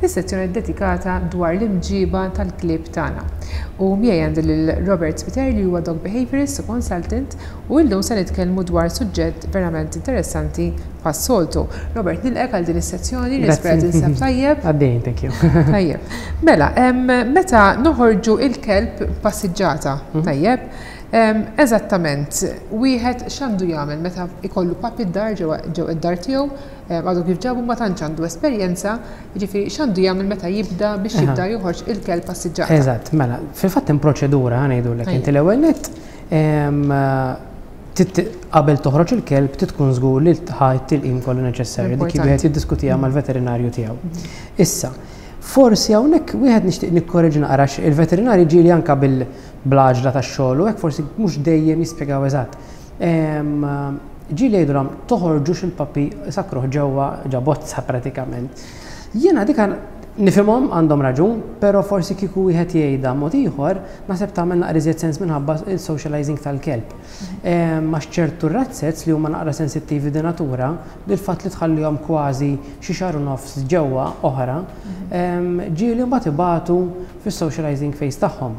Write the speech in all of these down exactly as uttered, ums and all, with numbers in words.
Fis-sezzjoni dedikata dwar l-imġiba tal-klieb tagħna. U miegħi għandi lil Robert Spiteri, li huwa dog behaviorist u consultant, u llum se nitkellmu dwar suġġett verament interessanti bħas-soltu. Robert, nilqgħek għal din is-sezzjoni, nispera tinsab tajjeb. Għaddejn, thank you. Tajjeb. Mela, meta noħorġu il-kelb passiġġata, mhm. tajjeb, eżattament, wieħed x'għandu jagħmel meta ikollu puppy d-dar, ġew id-dar tiegħu, għadu kif ġabu, ma tantx għandu esperjenza, jiġifieri x'għandu jagħmel meta jibda biex jibda joħorġ il-kelb passiġġata? Eżatt, mela, fil-fatt hemm proċedura, ħa ngħidulek inti. L-ewwel nett, qabel toħroġ il-kelb tkun żgur li ħa t-tilqim kollu neċessarju, dik wieħed jiddiskutiha mhm. mal-veterinarju tiegħu. Mhm. Issa, forsi hawnhekk wieħed nixtieq nikkoreġi naqra, il-veterinari ġieli anka bil-għaġla tax-xogħol u hekk forsi mhux dejjem jispjegaw eżatt. Ġieli jgħidulhom toħorġux il-puppy, sakkruh ġewwa ġo bozza pratikament. Jiena dika nifhimhom, għandhom raġun, però forsi kieku wieħed jgħidha mod ieħor, naħseb tagħmel naqra iżjed sens minħabba il-socializing tal-kelb. Ma ċertu razzez li huma naqra sensittivi di natura, li l-fatt li tħallihom kważi xi xahar u nofs ġewwa oħra, ġieli mbagħad ibatu fis-socializing phase tagħhom.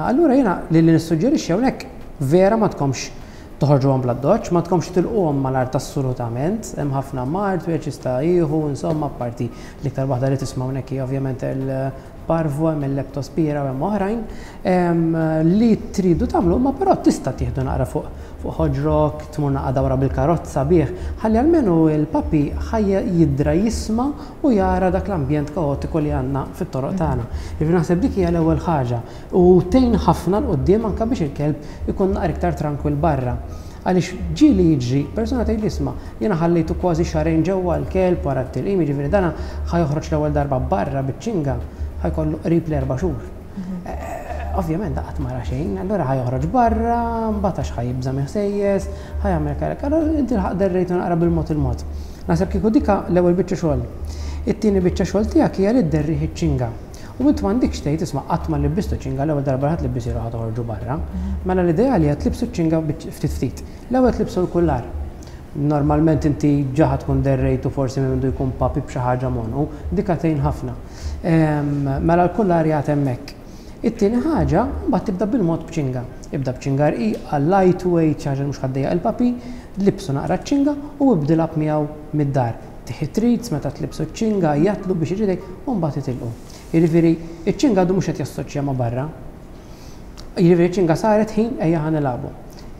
Allura jiena li nissuġġerixxi hawnhekk, vera ma tkomx toħorġuhom bl-addoċċ, ma tkomx tilquhom mal-art assolutament, hemm ħafna mard, wieħed jista' jieħu, insomma, parti l-iktar waħda li tisma' hawnhekk hija ovvjament il-parvo, hemm il-leptospira u hemm oħrajn li tridu tagħmlu, ma però tista' tieħdu naqra fuq fuq ħoġrok, tmur naqra dawra bil-karozza bih, ħalli almenu il-puppy ħajja jidra, jisma' u jara dak l-ambjent kaotiku li għandna fit-toroq tagħna. Jiġifieri naħseb dik hija l-ewwel ħaġa u tgħin ħafna 'l quddiem anke biex il-kelb ikun naqra iktar tranquil barra. Għaliex ġieli jiġri, persuna tgħid li isma', jiena ħallejtu kważi xahrejn ġewwa l-kelb wara t-tilqim, jiġifieri dana ħa joħroġ l-ewwel darba barra biċ-ċinga ħa jkollu qrib l-erba' xhur. Mhm. Ovvjament qatt ma ra xejn, allura ħa joħroġ barra, mbagħad għax ħa jibża' ħsejjes, ħa jagħmel karek. Allura inti l-ħaq derrejtu naqra bil-mod il-mod. Naħseb kieku dika l-ewwel biċċa xogħol. It-tieni biċċa xogħol tiegħek hija li dderrih iċ-ċinga. U int m'għandikx tgħid isma', qatt ma libbistu ċinga, l-ewwel darba ħadd libbisilu ħa toħorġu barra. Mhm. Mela l-idea li qed tlibsu ċinga ftit ftit. L-ewwel tlibsu l-kullar. Normalment inti ġa ħa tkun derrejtu forsi minn jkun puppy b'xi ħaġa m'għonqu, dika tgħin ħafna. Mela l-kullar jgħat hemmhekk. It-tieni ħaġa, mbagħad tibda bil-mod b'ċinga. Ibda b'ċinga rqiqa, lightweight, xi ħaġa mhux ħa ddejjaq il-puppy, libsu naqra ċinga u ibda miegħu mid-dar. Tih treats meta tlibsu ċinga, jatlu biex iġidek u mbagħad itilqu. Jiġifieri, iċ-ċinga għadu mhux qed jassoċja ma' barra. Jiġifieri ċinga saret ħin ejja ħa nilagħbu.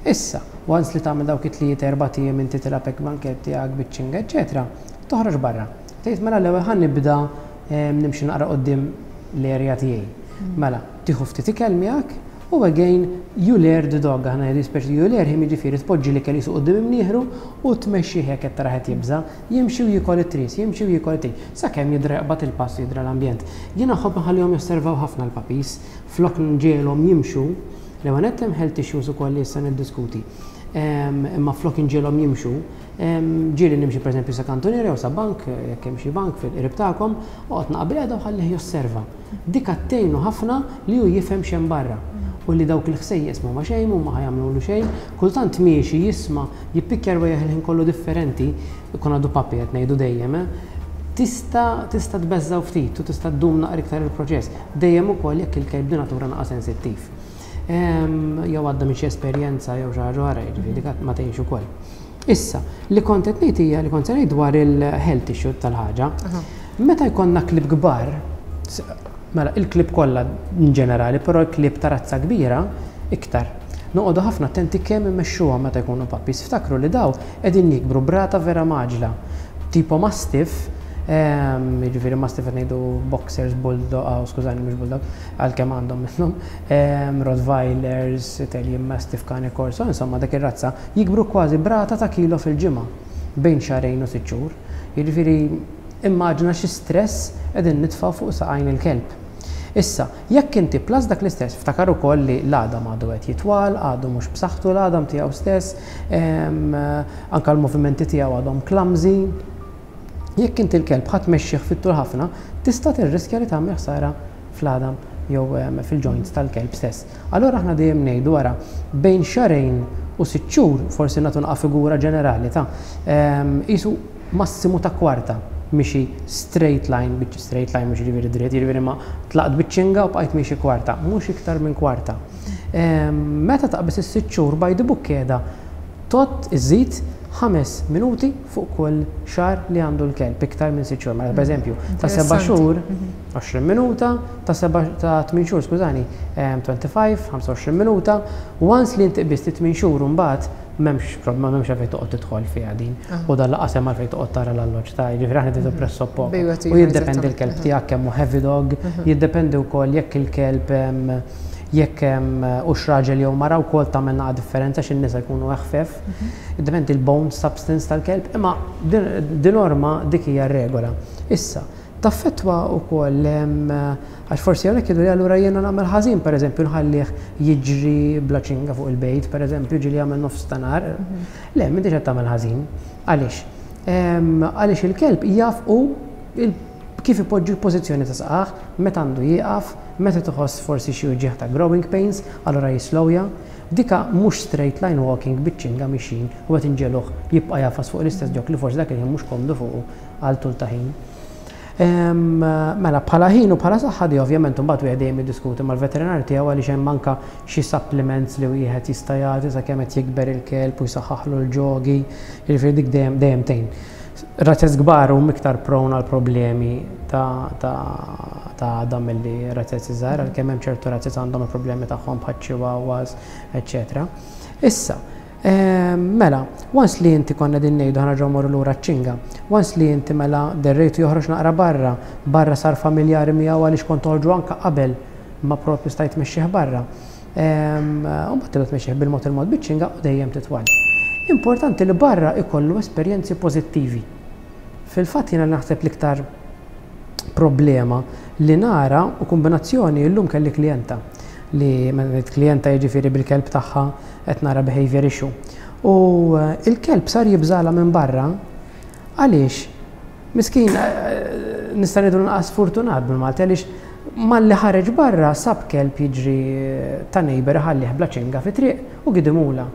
Issa, once li tagħmel dawk it-tliet erba' ijiem inti tilgħab hekk mal-kelb tiegħek biċ-ċinga, eċetera, toħroġ barra. Tgħid mela l-ewwel ħa nibda nimxi naqra quddiem l-area tiegħi. Mela, tieħu ftit ikel miegħek u again you lure the dog, aħna ngħidu speċi you lure him, jiġifieri tpoġġi l-ikel jisu quddiem imnieħru u tmexxi hekk qed tara qed jibża', jimxi u jiekol it-treats, jimxi u jiekol it-treats, sakemm jidra jaqbad il-pass, jidra l-ambjent. Jiena nħobb nħallihom josservaw ħafna l-puppies, flok nġegħelhom jimxu, l-ewwel hemm health issues ukoll li issa niddiskuti. Imma flok inġegħelhom jimxu, ġieli nimxi pereżempju sa kantuniera jew sa bank, jekk hemm xi bank fil-qrib tagħkom, oqgħod naqbel u ħallih josserva. Dik tgħinu ħafna li hu jifhem x'hemm barra u li dawk il-ħsejjes ma xejn u ma ħa jagħmlu xejn, kultant miexi jisma' jippikkja rwejjaħ il-ħin kollu differenti, ikun għadu puppy qed ngħidu dejjem, eh? tista tista tbeżżaw ftit u tista' ddum naqra iktar il-proċess. Dejjem ukoll jekk il-kelb di natura naqa' sensittiv. Jew għadda minn xi esperjenza jew xi ħaġa oħra, jiġifieri dik ma tgħinx ukoll. Issa, li kont qed ngħid hija li kont se ngħid dwar il-health issue tal-ħaġa. Meta jkollna klieb kbar, mela il-klieb kollha in ġenerali, però l-klieb ta' razza kbira iktar. Noqogħdu ħafna attenti kemm immexxuhom meta jkunu puppies. Ftakru li daw qegħdin jikbru b'rata vera mgħaġġla. Tipo mastiff, jiġifieri mastiff qed ngħidu boxers, bulldog, oh, skużani, mhux bulldog, għalkemm għandhom minnhom, Rottweilers, Italian Mastiff, Cane Corso, insomma dak ir-razza jikbru kważi b'rata ta' kilo fil-ġimgħa bejn xahrejn u sitt xhur. Jiġifieri immaġina xi stress qegħdin nitfgħu fuq saqajn il-kelb. Issa, jekk inti plus dak l-istess, ftakar ukoll li l-għadam għadu qed jitwal, għadu mhux b'saħħtu l-għadam tiegħu stess, anka l-movimenti tiegħu għadhom clumsy. Jekk inti l-kelb ħa tmexxih fit-tul ħafna, tista' tirriskja li tagħmel ħsara fl-għadam jew fil-joints tal-kelb stess. Allora aħna dejjem ngħidu wara bejn xahrejn u sitt xhur, forsi nagħtu naqa' figura ġenerali ta' qisu massimu ta' kwarta. Mixi straight line, biċ straight line mhux jiġifieri dritt, jiġifieri ma tlaqt biċ-ċinga u bqajt miexi kwarta, mhux iktar minn kwarta. Meta taqbeż is-sitt xhur, by the book qiegħda tot iżid ħames minuti fuq kull xahar li għandu l-kelb, iktar minn sitt xhur. Mela, per eżempju, ta' seba' xhur, għoxrin minuta, ta' seba' ta' tmien xhur, skużani, twenty-five, ħamsa u għoxrin minuta. Once li inti qbiżt tmien xhur, mbagħad m'hemmx problema, m'hemmx għalfejn toqgħod tidħol fiha din. U dan lanqas hemm għalfejn toqgħod tara l-alloġġ ta' jiġifieri aħna tidu presso poco. U jiddependi l-kelb tiegħek kemm hu heavy dog, jiddependi wkoll jekk il-kelb jekk hux raġel jew mara wkoll tagħmel naqa' differenza, x'in-nisa jkunu eħfef. Jiddependi l-bone substance tal-kelb, imma di norma dik hija regola. Issa, taffettwa wkoll għax forsi hawnhekk jgħidu li allura jiena nagħmel ħażin, pereżempju nħallih jiġri bla ċinga fuq il-bejt, pereżempju ġieli jagħmel nofs ta' nhar. Le, m'intix qed tagħmel ħażin. Għaliex? Għaliex il-kelb jaf u kif ipoġġi l-pożizzjoni ta' saqajh, meta għandu jieqaf, meta tħoss forsi xi uġigħ ta' growing pains, allura jislowja. Dika mhux straight line walking biċ-ċinga mixin u qed inġegħluh jibqa' jagħfas fuq l-istess jok li forsi dak il-ħin mhux komdu fuqu għal tul ta' ħin. Mela, bħala ħin u bħala saħħa di ovvjament mbagħad wieħed dejjem jiddiskuti mal-veterinarju tiegħu, għaliex hemm anka xi supplements li wieħed jista' jagħti sakemm qed jikber il-kelb u jsaħħaħlu l-ġogi, jiġifieri dik dejjem dejjem tgħin. Razzez kbar huma iktar prone għal problemi ta' ta' ta' għadam milli razzez iżgħar, għalkemm hemm ċertu razzez għandhom il-problemi tagħhom bħal chihuahuas, eċċetera. Issa, mela, once li inti konna din ngħidu, ħa nerġgħu morru lura ċinga, once li inti mela derrejtu joħroġ naqra barra, barra sar familjari miegħu għaliex kont toħorġu anka qabel ma propju stajt tmexxih barra. U mbagħad tibda tmexxih bil-mod il-mod biċ-ċinga u dejjem titwal. Importanti li barra ikollu esperjenzi pożittivi. Fil-fatt jiena naħseb l-iktar problema li nara u kombinazzjoni, illum kelli klijenta li klienta, jiġifieri bil-kelb tagħha qed nara behavior issue. U eh, il-kelb sar jibżala minn barra għaliex miskin, eh, nista' ngħidu nqas fortunat bil-Malti, għaliex malli ħareġ barra sab kelb jiġri ta' neighbor ħallih bla ċinga fi triq u gidimula.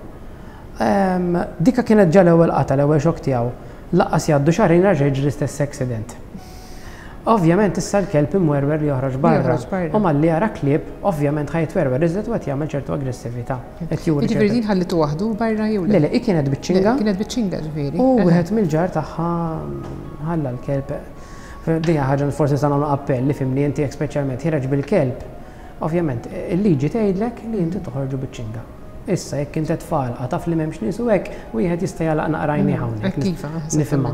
Dika kienet ġa l-ewwel qata, l-ewwel xokk tiegħu. Lanqas jgħaddu xahrejn raġa' jiġri l-istess accident. Ovvjament issa l-kelb imwerwer li joħroġ barra. U malli jara klieb, ovvjament ħa jitwerwer iżjed u qed jagħmel ċertu aggressività. Jiġifieri din ħallitu waħdu barra jew le? Le, kienet biċ-ċinga. Kienet biċ-ċinga ġifieri. U wieħed mill-ġar tagħha ħalla l-kelb. Dija ħaġa forsi sa nagħmlu appell li fimni inti speċjalment ħiereġ bil-kelb. Ovvjament, il-liġi tgħidlek li inti toħorġu biċ-ċinga. Issa jekk inti tfal, taf li m'hemmx nies u hekk, wieħed jista' jagħlaq naqra għajnejh mm, hawnhekk. Nifhimha.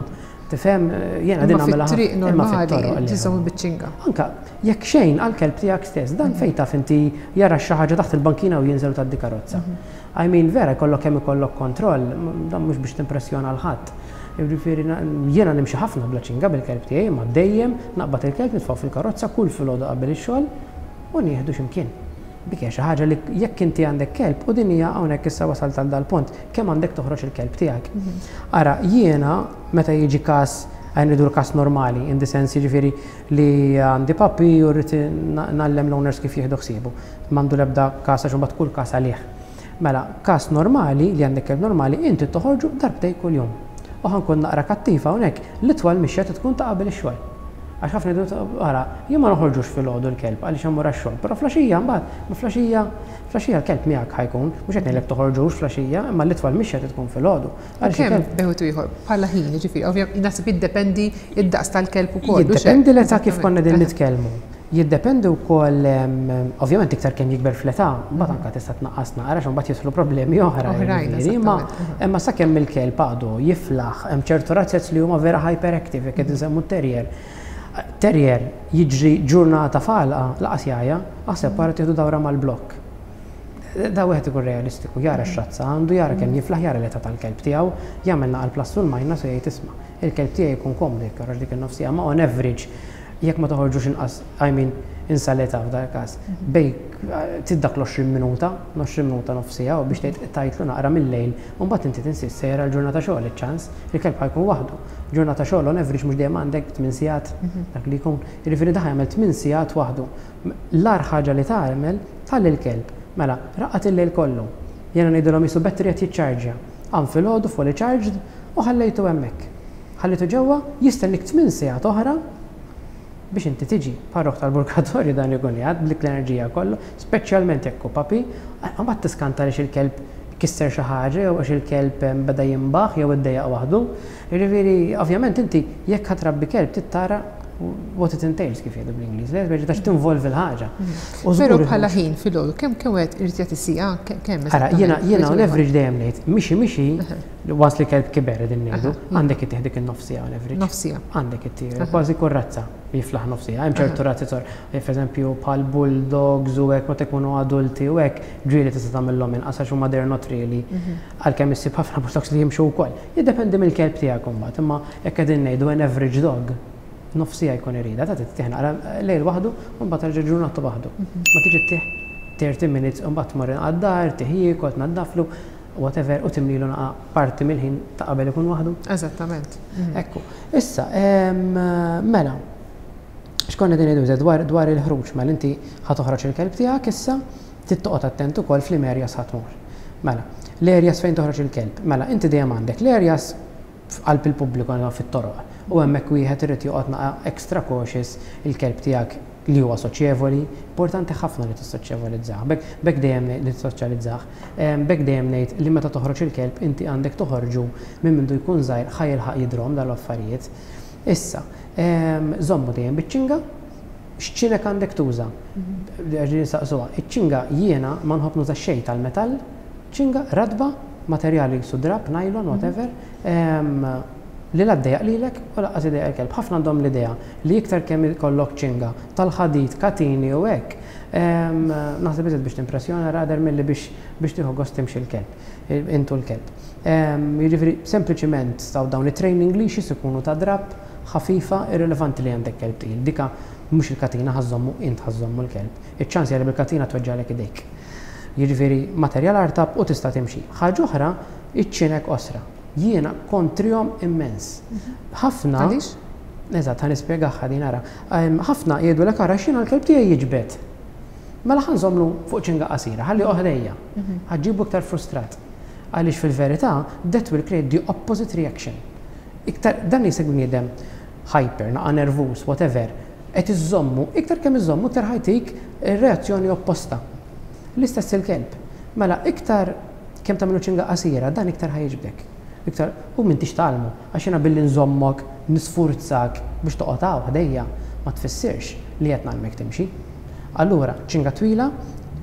Tifhem, jiena din nagħmilha. Fit-triq normali tiżomm biċ-ċinga. Anka jekk xejn għal-kelb tiegħek stess, dan fejn taf inti jara xi ħaġa taħt il-bankina u jinżel tgħaddi karozza. Mhm. I mean, vera jkollok kemm ikollok kontroll, dan mhux biex timpressjona 'l ħadd. Jiġifieri jiena nimxi ħafna bla ċinga bil-kelb tiegħi, ma dejjem naqbad il-kelb, nitfgħu fil-karozza kull filgħodu qabel ix-xogħol u nieħdu x'imkien. Dik hija xi ħaġa li jekk inti għandek kelb, u din hija hawnhekk issa wasalt għal dal-punt, kemm għandek toħroġ il-kelb tiegħek. Mhm. Ara, jiena meta jiġi każ, għajn ridu każ normali, in the sense jiġifieri li għandi puppy u rrid ngħallem l-owners kif jieħdu ħsiebu. M'għandu l-ebda każ, għax imbagħad kull każ għalih. Mela, każ normali li għandek kelb normali, inti toħorġu darbtej kuljum. U ħa nkun naqra kattiva hawnhekk, l-itwal mixja tkun ta' qabel ix-xogħol. Għax ħafna jgħidu, ara, jien ma noħorġux filgħodu l-kelb għaliex immur għax-xogħol, però filgħaxija mbagħad, ma filgħaxija, filgħaxija l-kelb miegħek ħa jkun, mhux qed ngħidlek toħorġux filgħaxija, imma l-itwal mixja tkun filgħodu. Għaliex il-kelb bejn wieħed u ieħor bħala ħin, jiġifieri, ovvjament naħseb jiddependi id-daqs tal-kelb ukoll. Jiddependi l-età, kif konna din nitkellmu. Jiddependi wkoll, ovvjament iktar kemm jikber fl-età, mbagħad anke tista' tnaqqas naqra għax mbagħad jidħlu problemi oħra. Oħrajn, jiġifieri, Imma esattament. imma sakemm il-kelb għadu jiflaħ, hemm ċertu razzez li huma vera hyperactive, jekk qed insemmu terrier. Terrier jiġri ġurnata falqa, lanqas jgħajja, aħseb wara tieħdu dawra mal-blokk. Da wieħed ikun realistiku, jara x-razza għandu, jara kemm jiflaħ, jara l-età tal-kelb tiegħu, jagħmel naqal plus u l-minus u jgħid, isma', il-kelb tiegħi jkun komdu jekk joħroġ dik in-nofsija, ma on average jekk ma toħorġux inqas, I mean, insa l-età f'dal każ, bej tiddak l-għoxrin minuta, għoxrin minuta, nofsija, u biex tgħid tajtlu naqra mill-lejl, u mbagħad inti tinsist sejra l-ġurnata xogħol iċ-ċans, il-kelb ħa jkun waħdu. Ġurnata xogħol on average mhux dejjem għandek tmien sigħat dak li jkun. Jiġifieri daħ jagħmel tmien sigħat waħdu. L-agħar ħaġa li tagħmel tħalli l-kelb. Mela, raqad il-lejl kollu. Jiena ngħidulhom qisu battery qed jiċċarġja. Qam filgħodu fully charged u ħallejtu hemmhekk. Ħallitu ġewwa, jistennik tmien sigħat oħra biex inti tiġi. Parroħ tal-purgatorju dan ikun jgħad, blik l-enerġija kollu, speċjalment jekk hu puppy, mbagħad tiskanta li il-kelb kisser xi ħaġa jew għax il-kelb beda jimbaħ jew iddejjaq waħdu. Jiġifieri, ovvjament inti jekk ħa trabbi kelb trid tara what it entails, kif jgħidu bl-Ingliż, le biex tinvolvi l-ħaġa. Però bħala ħin filgħodu, kemm kemm qed irid jagħti siegħa, kemm? Ara, jiena jiena on average dejjem ngħid, mixi mixi, once li kelb kiber din ngħidu, għandek ittih dik in-nofs siegħa on average. Nofs siegħa. Għandek ittih, kważi kull razza jiflaħ nofs siegħa. Hemm ċertu razzi sor, per bħal bulldogs u hekk, meta jkunu adulti u hekk, ġieli tista' tagħmilhom inqas għax huma they're not really. Għalkemm issib ħafna bulldogs li jimxu wkoll. Jiddependi mill-kelb tiegħek imbagħad, imma jekk qegħdin ngħidu an average dog, nofs siegħa jkun irida, ta' tittieħ naqra lejl waħdu u mbagħad terġa' ġurnata waħdu. Ma tiġi ttih thirty minutes u mbagħad tmur għad-dar, tih jiekol, tnaddaflu, whatever, u timlilu naqa parti mill-ħin ta' qabel ikun waħdu. Eżattament. Ekku. Issa, mela, x'konna din ngħidu dwar dwar il-ħruġ, mela inti ħa toħroġ il-kelb tiegħek issa, trid toqgħod attent ukoll fl-areas ħa tmur. Mela, l-areas fejn toħroġ il-kelb. Mela, inti dejjem għandek l-areas f'qalb il-pubbliku fit-toroq. U hemmhekk wieħed irid joqgħod naqa extra cautious il-kelb tiegħek li huwa soċjevoli, importanti ħafna li tissoċjevolizzah. Bek dejjem li tissoċjalizzah. Bek dejjem ngħid li meta toħroġ il-kelb inti għandek toħorġu minn mindu jkun żgħir ħa jilħaq jidrom dal-affarijiet. Issa, żommu dejjem biċ-ċinga, x'ċinek għandek tuża? Ġieli saqsuha. Iċ-ċinga jiena ma nħobb nuża xejn tal-metall, ċinga ratba, materjali su drap, nylon, whatever, li la ddejjaq lilek u lanqas idejjaq il-kelb. Ħafna għandhom l-idea li iktar kemm ikollok ċinga tal-ħadid, katini u hekk, naħseb iżjed biex timpressjona rather milli biex biex tieħu gost timxi l-kelb, intu l-kelb. Jiġifieri sempliċiment staw dawn it-training leashes ikunu ta' drap, ħafifa, irrelevanti li għandek kelb tqil. Dika mhux il-katina ħa żżommu, int ħa żżommu l-kelb. Iċ-ċans li bil-katina tweġġalek idejk. Jiġifieri materjal artab u tista' timxi. Ħaġa oħra, iċ-ċinek qosra. Jiena kontrihom immens. Ħafna. Għaliex? Eżatt, ħa nispjegaha din, ara. Ħafna jgħidu l ara x'jiena l-kelb tiegħi jiġbed. Mela ħa nżommlu fuq ċinga qasira, ħalli oħdejja. Ħa ġġibu iktar frustrat. Għaliex fil-verità, that will create the opposite reaction. Iktar, dan jiseg bniedem hyper, naqa nervus, whatever, qed iżommu, iktar kemm iżommu, iktar ħa jtik reazzjoni opposta. L-istess il-kelb. Mela, iktar kemm tagħmlu ċinga qasira, dan iktar ħa jiġbdek. Iktar, u m'intix tgħallmu, għax jiena billi nżommok, nisfurzak biex toqgħod hawn ħdejja, ma tfissirx li qed ngħallmek timxi. Allura, ċinga twila,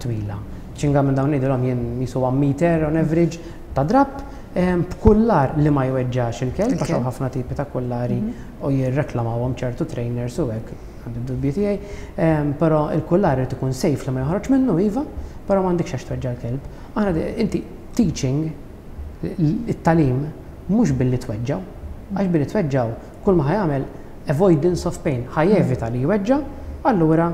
twila. Ċinga minn dawn ngħidilhom jien jisu one meter on average ta' drap, b'kullar li ma jweġġax il-kelb, għax hawn ħafna tipi ta' kullari u jirreklamawhom ċertu trainers u hekk, għandi dubji tiegħi, però il-kullar irid ikun safe li ma joħroġ minnu iva, però m'għandekx għax tweġġa' l-kelb. Aħna inti teaching, it-tagħlim mhux billi tweġġaw, għax billi tweġġaw kull ma ħa jagħmel avoidance of pain, ħa jevita li jweġġa, allura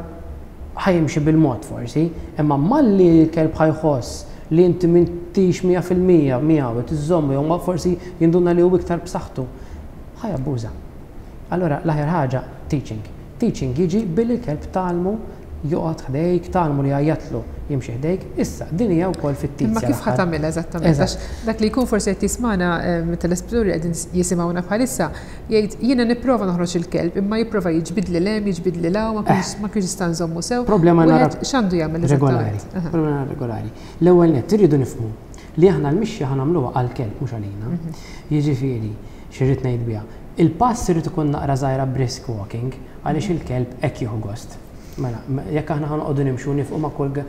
ħa jimxi bil-mod forsi, imma malli l-kelb ħa jħoss li inti m'intix mija fil-mija miegħu tiżommu jew forsi jinduna li hu iktar b'saħħtu, ħa jabbuża. Allura l-aħjar ħaġa teaching. Teaching jiġi billi l-kelb tgħallmu joqgħod ħdejk, tgħallmu li għajjatlu jimxi ħdejk. Issa, din hija wkoll fit-tizja. Imma kif ħa tagħmilha eżattament? Għax dak li jkun forsi qed jismana telespettaturi qegħdin jisimgħuna bħalissa, jgħid jiena nipprova noħroġ il-kelb, imma jipprova jiġbidli 'l hemm, jiġbidli 'l hawn, ma kienx ma kienx jista' nżommu sew. Problema nara X'għandu jagħmel regolari. eżattament? Problema regolari. L-ewwel nett irridu nifhmu li aħna l-mixja ħa nagħmluha għall-kelb mhux għalina. Jiġifieri, x'irrid ngħid biha. Il-pass irid ikun naqra żgħira brisk walking għaliex il-kelb hekk jieħu gost. Mela, jekk aħna ħa noqogħdu nimxu nifqu ma' kull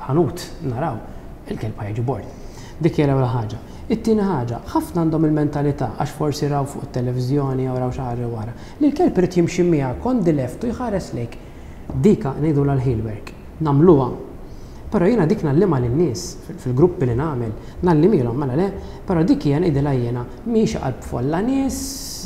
ħanut naraw, il-kelb ħa jiġi bored. Dik hija l-ewwel ħaġa. It-tieni ħaġa, ħafna għandhom il-mentalità għax forsi raw fuq it-televiżjoni jew raw xi ħaġa wara, li l-kelb irid jimxi miegħek on the left u jħares lejk. Dika ngħidu l-heel work. Nagħmluha. Però jiena dik ngħallimha lin-nies fil-gruppi li nagħmel, ngħallimilhom mela le, però dik hija ngħidilha jiena mhix qalb folla nies,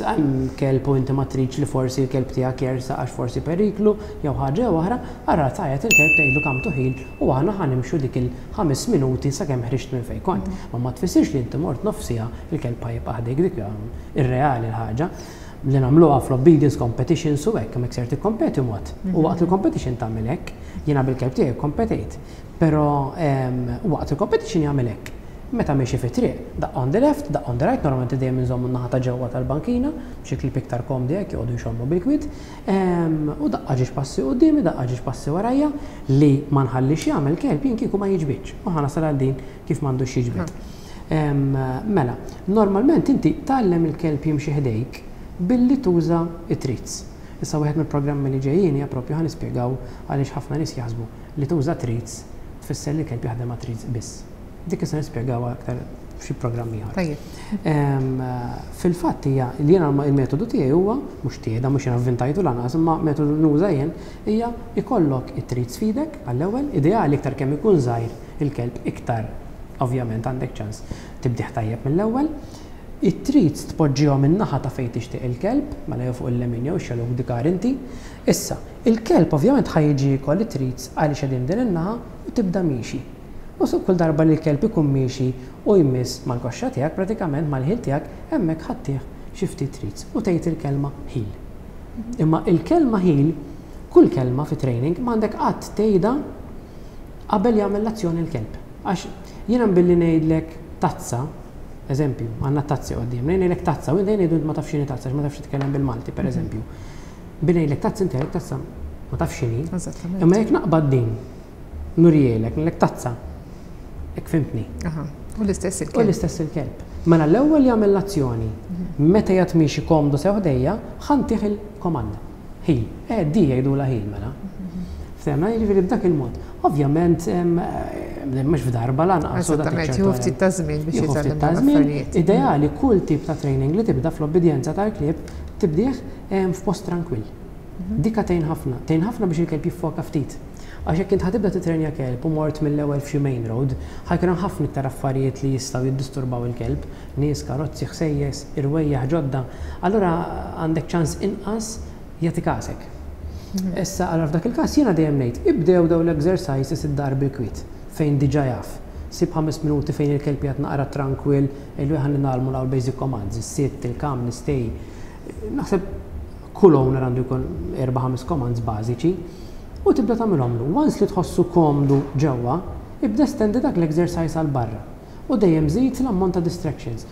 hemm kelb u inti ma tridx li forsi l-kelb tiegħek jersaq għax forsi periklu jew ħaġa jew oħra, ara tgħajjat il-kelb tgħidlu come to heel u aħna ħa nimxu dik il-ħames minuti sakemm ħriġt minn fejn kont. Ma ma tfissirx li inti mort nofs siegħa il-kelb ħa jibqa' ħdejk, dik irreali l-ħaġa li nagħmluha fl-obedience competitions u hekk, hemmhekk ser tikkompeti mod. U waqt il-competition tagħmel hekk, jiena bil-kelb tiegħi kompetejt. Però waqt il-competition jagħmel hekk. Meta miexi fi triq, daqqa on the left, daqqa on the right, normalment dejjem inżommu n-naħa ta' ġewwa tal-bankina, biex il-klieb iktar komdi hekk joqogħdu jxommu bil-kwiet. U daqqa ġiex passi quddiemi, daqqa ġiex passi warajja, li ma nħallix jagħmel kelb jien kieku ma jiġbidx. U ħa nasal għal din kif m'għandux jiġbid. Mela, normalment inti tgħallem il-kelb jimxi ħdejk billi tuża it-treats. Issa wieħed mill-programmi li ġejjin hija proprju ħa nispjegaw għaliex ħafna nies jaħsbu li tuża treats tfisser li kelb jaħdem ma' treats biss. Dik issa nispjegaw aktar f'xi programm ieħor. Fil-fatt hija li jiena il-metodu tiegħi huwa mhux tiegħi, da mhux jiena avvintajtu lanqas, imma metodu nuża jien hija ikollok it-treats f'idek għall-ewwel, ideali iktar kemm ikun żgħir il-kelb iktar ovvjament għandek ċans tibdih tajjeb mill-ewwel. It-treats tpoġġihom in-naħa ta' fejn tixtieq il-kelb, mela jew fuq il-lemin jew ix-xellug dikar inti. Issa, il-kelb ovvjament ħa jiġi jkoll it-treats għaliex qegħdin din in-naħa u tibda miexi. U su kull darba li l-kelb ikun miexi u jmiss mal-koxxa tiegħek, pratikament mal-heel tiegħek, hemmhekk ħa ttih xi ftit treats u tgħid il-kelma "heel". Imma il-kelma "heel", kull kelma fi training m'għandek qatt tgħidha qabel jagħmel l-azzjoni l-kelb. Għax jiena billi ngħidlek "tazza", eżempju, għandna tazzi quddiem, ngħidlek "tazza", u inti ngħidu ma tafx x'inhi tazza, ma tafx titkellem bil-Malti, per eżempju. Billi ngħidlek "tazza", inti għalek tazza ma tafx x'inhi. Imma jekk naqbad din, nurihielek, ngħidlek "tazza", hekk fhimtni. U l-istess il-kelb. U l-istess il-kelb. Mela l-ewwel jagħmel l-azzjoni, meta jgħat miexi komdu sew ħdejja, ħa ntih il-komand. "Heel". Eh, di jgħidula "heel" mela. Ftehmna, jiġifieri b'dak il-mod. Ovvjament, mhux f'darba lanqas. Eżattament, jieħu ftit ta' żmien biex Jieħu ftit jitgħallem ta' dawn żmien. l-affarijiet. Ideali kull tip ta' training li tibda fl-obbedjenza tal-klieb tibdih f'post tranquill. Dika tgħin ħafna, tgħin ħafna biex il-kelb jiffoka ftit. Għax jekk int ħa tibda titrenja kelb u mort mill-ewwel f'xi main road, ħa jkun hemm ħafna iktar affarijiet li jistgħu jiddisturbaw il-kelb, nies, karozzi, ħsejjes, irwejjaħ ġodda. Allura għandek ċans inqas jagħti kasek. Issa, allura f'dak il-każ jiena dejjem ngħid, ibdew daw l-exercises id-dar bil-kwiet fejn diġà jaf. Sib ħames minuti fejn il-kelb jgħat naqra tranquil, illu ħa nitgħallmu l basic commands, is-sit, il-come, l-stay. Naħseb kull owner għandu jkun erba' ħames commands bażiċi u tibda tagħmilhomlu. Once li tħossu komdu ġewwa, ibda estendi dak l-exercise għal barra. U dejjem żid l-ammont ta' distractions.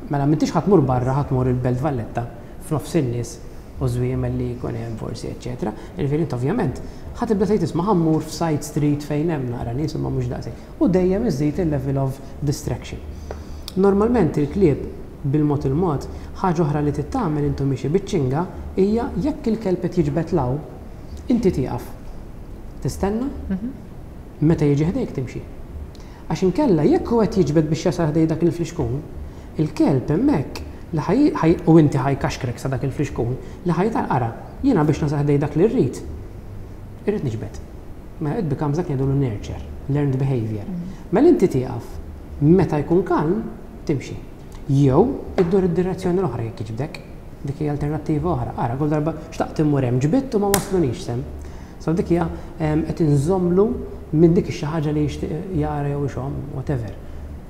Mela m'intix ħa tmur barra, ħa tmur il-Belt Valletta f'nofs in-nies u żwiemel li jkun hemm forsi, eċetera. Jiġifieri int ovvjament ħa tibda tgħid, "Isma', ħa mmur f'side street fejn hemm naqra nies imma mhux daqshekk." U dejjem iżid il-level of distraction. Normalment il-klieb bil-mod il-mod, ħaġa oħra li tittamel intu miexi biċ-ċinga hija jekk il-kelb qed jiġbed law, inti tieqaf. Tistenna, meta jiġi ħdejk timxi. Għax inkella jekk hu qed jiġbed biex jasal ħdej dak il-flixkun, il-kelb hemmhekk li ħaj u inti ħa jkaxkrek sa dak il-flixkun li ħaj tal-qara, jiena biex nasal ħdej dak li rrid, irrid niġbed. Mela it becomes dak jgħidu nurture, learned behavior. Mela inti tieqaf, meta jkun kalm, timxi. Jew iddur id-direzzjoni l-oħra jekk jiġbdek. Dik hija alternattiva oħra. Ara, kull darba xtaqt immur hemm ġbidt u ma waslunix s'hemm. So dik hija qed inżomlu minn dik ix-xi ħaġa li jixtieq jara jew ixomm, whatever.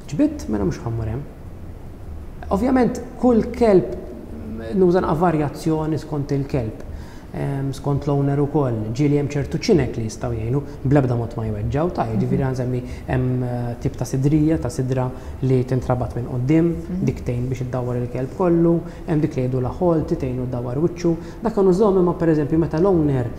Ġbidt, mela mhux ħa mmur hemm. Ovvjament kull kelb nuża varjazzjoni skont il-kelb, skont l-owner ukoll, ġieli hemm ċertu ċinek li jistgħu jgħinu bl-ebda mod ma jweġġaw, ta' jiġifieri nsemmi hemm eh, tip ta' sidrija, ta' sidra li tintrabat minn quddiem, mhm. dik tgħin biex iddawwar il-kelb kollu, hemm dik li jgħidu la halti tgħinu ddawwar wiċċu. Dak nużahom imma pereżempju meta l-owner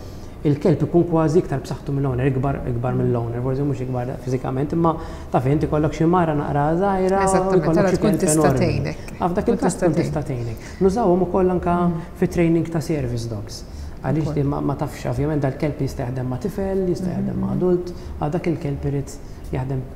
il-kelb ikun kważi iktar b'saħħtu mill-owner, ikbar ikbar mill-owner, forsi mhux ikbar fiżikament, imma taf inti kollok xi mara naqra żgħira. Eżattament, tkun tista' tgħinek. F'dak il-każ tkun tista' tgħinek. Nużawhom ukoll anke mm. fi training ta' service dogs. Għaliex li ma tafx, ovvjament dal-kelb jista' jaħdem ma' tifel, jista' jaħdem ma' adult, għal dak il-kelb irid jaħdem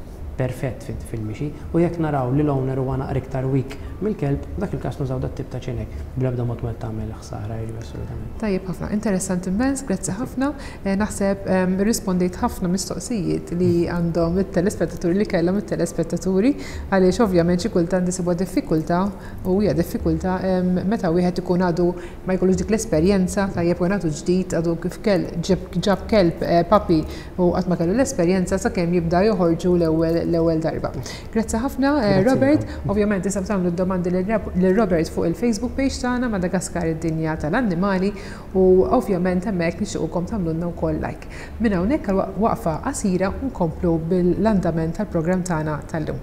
perfett fil-mixi. U jekk naraw li l-owner huwa naqra iktar weak mill-kelb, dak il-każ nużaw dat tip ta' ċinek. Bl-ebda mod ma tagħmel ħsara, jiġi assolutament. Tajjeb ħafna, interessanti immens, grazzi ħafna. Eh, naħseb rispondejt ħafna mistoqsijiet li għandhom it-telespettaturi, li kellhom it-telespettaturi, għaliex ovvjament xi kultant isibuha diffikultà u hija diffikultà meta wieħed ikun għadu ma jkollux dik l-esperjenza, tajjeb, u għadu ġdid, għadu kif kell ġab kelb eh, puppy u qatt ma kellu l-esperjenza sakemm jibda joħorġu l-ewwel l-ewwel darba. Grazzi ħafna, eh, Robert. Ovvjament tistgħu tagħmlu domandi lil Robert fuq il-Facebook page tagħna, Madagaskar id-dinja tal-annimali, u ovvjament hemmhekk nixtiequkom tagħmlulna wkoll like. Minn hawnhekk waqfa qasira nkomplu bil-andament tal-programm tagħna tal-lum.